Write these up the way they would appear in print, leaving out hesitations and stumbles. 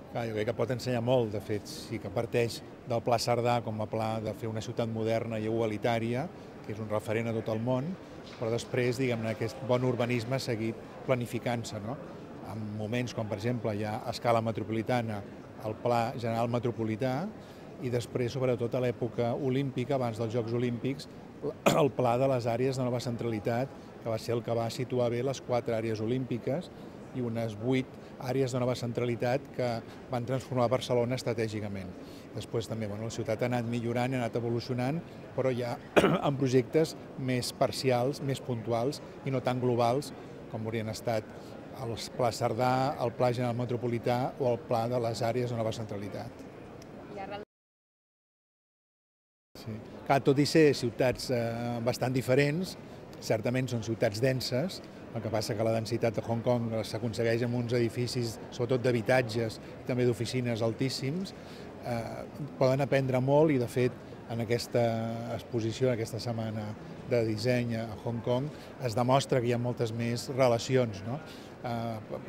Clar, jo crec que pot ensenyar molt, de fet, sí que parteix del Pla Cerdà com a pla de fer una ciutat moderna i igualitària, que és un referent a tot el món, però després, diguem-ne, aquest bon urbanisme ha seguit planificant-se, no? En moments com, per exemple, hi ha a escala metropolitana el Pla General Metropolità i després, sobretot a l'època olímpica, abans dels Jocs Olímpics, el Pla de les àrees de nova centralitat, que va ser el que va situar bé les 4 àrees olímpiques i unes 8 àrees de nova centralitat que van transformar Barcelona estratègicament. Després també la ciutat ha anat millorant, ha anat evolucionant, però ja amb projectes més parcials, més puntuals i no tan globals com haurien estat el Pla Cerdà, el Pla General Metropolità o el Pla de les àrees de nova centralitat. Sí. Clar, tot i ser ciutats bastant diferents, certament són ciutats denses, el que passa que la densitat de Hong Kong s'aconsegueix amb uns edificis, sobretot d'habitatges, també d'oficines altíssims, poden aprendre molt i, de fet, en aquesta exposició, aquesta setmana de disseny a Hong Kong, es demostra que hi ha moltes més relacions, no?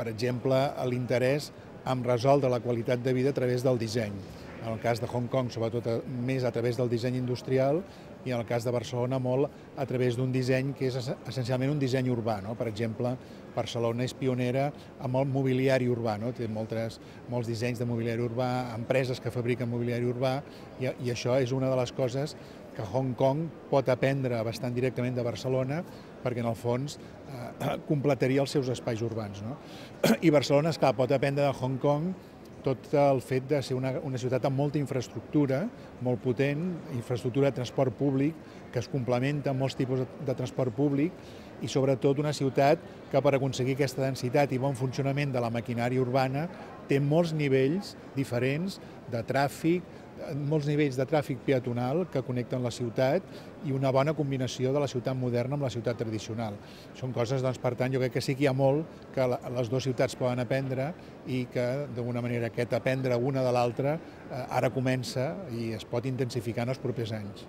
Per exemple, l'interès en resoldre la qualitat de vida a través del disseny. En el cas de Hong Kong, sobretot més a través del disseny industrial, i en el cas de Barcelona molt a través d'un disseny que és essencialment un disseny urbà, no? Per exemple, Barcelona és pionera amb el mobiliari urbà, no? Té molts dissenys de mobiliari urbà, empreses que fabriquen mobiliari urbà, i això és una de les coses que Hong Kong pot aprendre bastant directament de Barcelona, perquè en el fons completaria els seus espais urbans, no? I Barcelona, esclar, pot aprendre de Hong Kong tot el fet de ser una ciutat amb molta infraestructura, molt potent, infraestructura de transport públic, que es complementa amb molts tipus de transport públic, i sobretot una ciutat que per aconseguir aquesta densitat i bon funcionament de la maquinària urbana té molts nivells diferents de tràfic, molts nivells de tràfic peatonal que connecten la ciutat i una bona combinació de la ciutat moderna amb la ciutat tradicional. Són coses, doncs, per tant, jo crec que sí que hi ha molt que les dues ciutats poden aprendre i que, d'alguna manera, aquest aprendre una de l'altra ara comença i es pot intensificar en els propers anys.